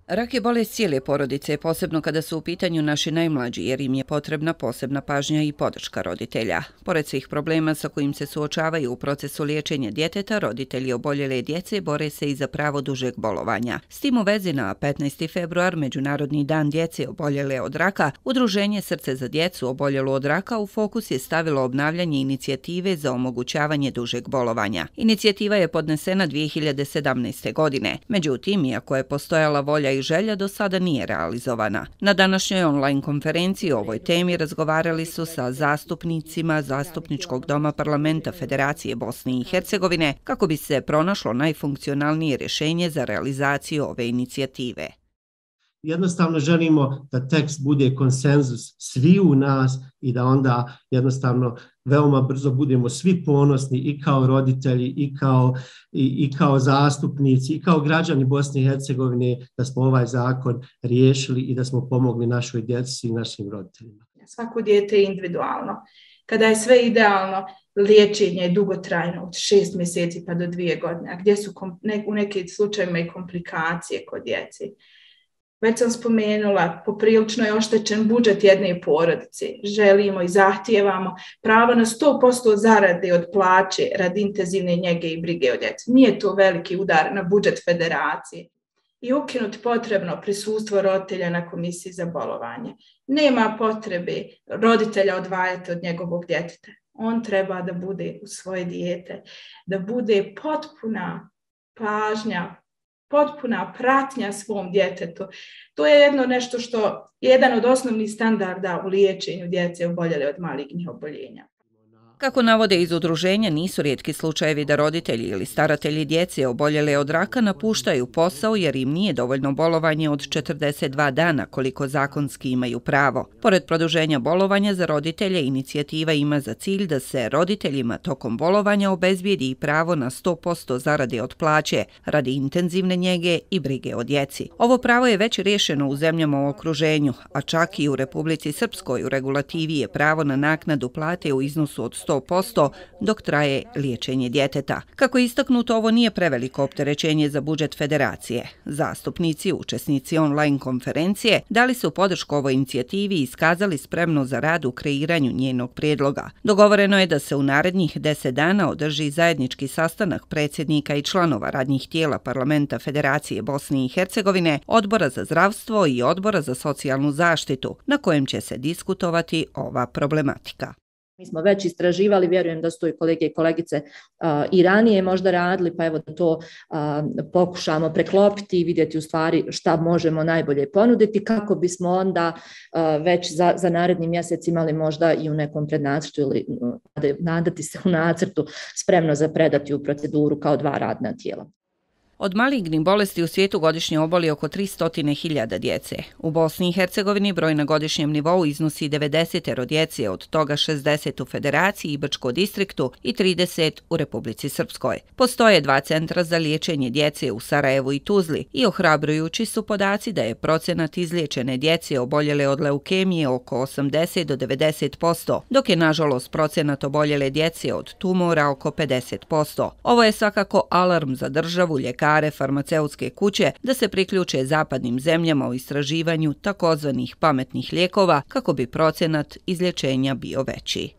Rak je bolest cijele porodice, posebno kada su u pitanju naši najmlađi, jer im je potrebna posebna pažnja i podrška roditelja. Pored svih problema sa kojim se suočavaju u procesu liječenja djeteta, roditelji oboljele djece bore se i za pravo dužeg bolovanja. S tim u vezi na 15. februar, Međunarodni dan djece oboljele od raka, Udruženje Srce za djecu oboljelu od raka u fokus je stavilo obnavljanje inicijative za omogućavanje dužeg bolovanja. Inicijativa je podnesena 2017. godine. Međutim, iako je postojala volja i želja, do sada nije realizovana. Na današnjoj online konferenciji o ovoj temi razgovarali su sa zastupnicima Zastupničkog doma Parlamenta Federacije Bosne i Hercegovine kako bi se pronašlo najfunkcionalnije rješenje za realizaciju ove inicijative. Jednostavno želimo da tekst bude konsenzus svi u nas i da onda jednostavno veoma brzo budemo svi ponosni i kao roditelji i kao zastupnici i kao građani Bosne i Hercegovine da smo ovaj zakon riješili i da smo pomogli našoj djeci i našim roditeljima. Svako dijete je individualno. Kada je sve idealno, liječenje je dugotrajno od 6 mjeseci pa do 2 godine, a gdje su u nekim slučajevima i komplikacije kod djeci. Već sam spomenula, poprilično je oštećen budžet jedne porodice. Želimo i zahtijevamo pravo na 100% zarade od plaće radi intenzivne njege i brige o djeci. Nije to veliki udar na budžet federacije. I ukinuti potrebno prisustvo roditelja na komisiji za bolovanje. Nema potrebe roditelja odvajati od njegovog djeteta. On treba da bude u svoje dijete, da bude potpuna pažnja, potpuna pratnja svom djetetu. To je nešto što je jedan od osnovnih standarda u liječenju djece oboljele od malignih oboljenja. Kako navode iz udruženja, nisu rijetki slučajevi da roditelji ili staratelji djece oboljele od raka napuštaju posao jer im nije dovoljno bolovanje od 42 dana koliko zakonski imaju pravo. Pored produženja bolovanja za roditelje, inicijativa ima za cilj da se roditeljima tokom bolovanja obezbijedi i pravo na 100% zarade od plaće radi intenzivne njege i brige o djeci. Ovo pravo je već riješeno u zemljama u okruženju, a čak i u Republici Srpskoj u regulativi je pravo na naknadu plate u iznosu od 100% dok traje liječenje djeteta. Kako je istaknuto, ovo nije preveliko opterećenje za budžet federacije. Zastupnici, učesnici online konferencije, dali su podršku ovoj inicijativi i iskazali spremnost za rad u kreiranju njenog prijedloga. Dogovoreno je da se u narednih 10 dana održi zajednički sastanak predsjednika i članova radnih tijela Parlamenta Federacije Bosne i Hercegovine, Odbora za zdravstvo i Odbora za socijalnu zaštitu, na kojem će se diskutovati ova problematika. Mi smo već istraživali, vjerujem da su to i kolege i kolegice i ranije možda radili, pa evo da to pokušamo preklopiti i vidjeti u stvari šta možemo najbolje ponuditi kako bismo onda već za naredni mjesec imali možda i u nekom prednacrtu ili nadati se u nacrtu spremno za predati u proceduru kao 2 radna tijela. Od malignih bolesti u svijetu godišnje oboli oko 300.000 djece. U Bosni i Hercegovini broj na godišnjem nivou iznosi 90 djece, od toga 60 u Federaciji i Brčkom distriktu i 30 u Republici Srpskoj. Postoje 2 centra za liječenje djece u Sarajevu i Tuzli i ohrabrujući su podaci da je procenat izliječene djece oboljele od leukemije oko 80 do 90%, dok je nažalost procenat oboljele djece od tumora oko 50%. Ovo je svakako alarm za državu, ljekare, farmaceutske kuće da se priključe zapadnim zemljama u istraživanju takozvanih pametnih lijekova kako bi procenat izlječenja bio veći.